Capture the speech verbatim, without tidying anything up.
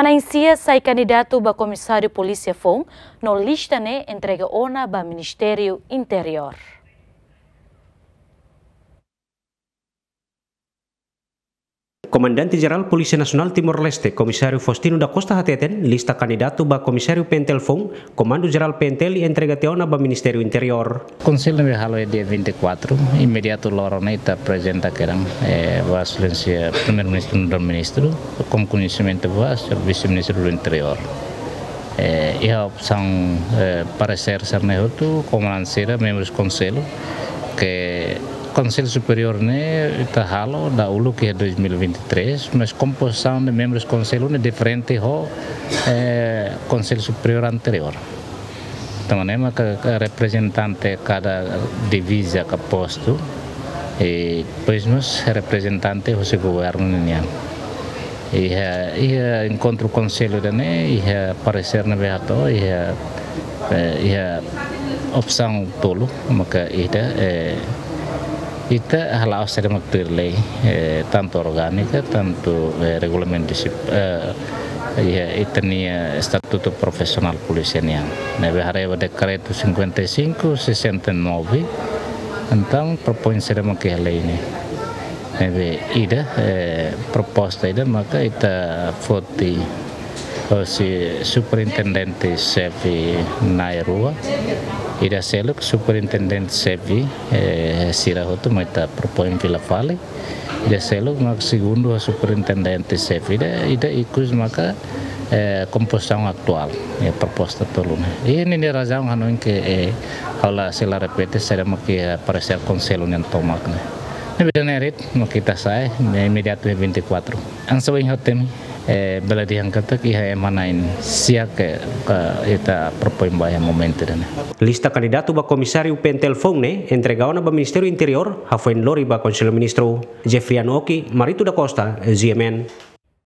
Manán sia sai kandidatu ba Komisáriu Polísia foun, no lista ne'e entrega ona ba Ministériu Interiór. Komandante Jerál Polísia Nasionál Timor-Leste, Komisáriu Faustino da Costa hateten, lista kandidatu ba Komisáriu P N T L foun, Komandu Jerál P N T L entrega tiha ona ba Ministériu Interiór. Konsellu ne'ebé halo iha dia vinte e quatro, imediatu loron ne'e ita aprezenta kedan, eh, ba Exelénsia Primeiru-Ministru no Primeiru-Ministru, ho koñesimentu ba Señór Vise-Ministru do Interiór. Eh, iha opsaun, eh, paresér sira-ne'e hotu, komandante sira, membrus konsellu, ke Konsellu Superiór ne'e ita halo dahuluk iha dois mil e vinte e três, mas kompozisaun de membrus konsellu ne'e diferente ho, eh, Konsellu Superiór anteriór. Tanba ne'e maka, ka reprezentante kada diviza ka postu, i depois mós reprezentante husi governu nian. Iha, iha enkontru konsellu ida-ne'e, iha paresér ne'ebé hato'o, iha, eh, iha opsaun tolu, maka ida, eh, ita hala'o saida mak tuir lei, eh, tantu orgánika, tantu, eh, regulamentu disip-, eh, iha ita-nia estatutu profisionál polísia nian. Ne'ebé haree ba dekretu cinquenta e cinco, sessenta e nove, entaun propoin saida mak iha lei ne'e. Ne'ebé ida, eh, proposta ida maka ita foti hosi superintendente xefe na'in rua, ida seluk superintendente xefe, eh, sira hotu mak ita propoin fila fali, ida seluk mak segundu superintendente xefe, ida, ida ikus maka, eh, kompozisaun atuál, eh, proposta tolu ne'e. I ninia razaun hanoin ke, eh, ha'u la sei la repete saida mak iha paresér konsellu nian tomak ne'e. Ne'ebé ida-ne'e de'it mak ita sa'e, ne'e imediatu iha vinte e quatro. Hanesan ohin ha'u temi, eh, bele dehan katak iha ema na'in sia ke, eh, ita propoin ba iha momentu ida-ne'e. Lista kandidatu ba Komisáriu P N T L foun ne'e entrega ona ba Ministériu Interiór, hafoin lori ba Konsellu Ministru. Jeffriano Oki, Marito da Costa, G M N.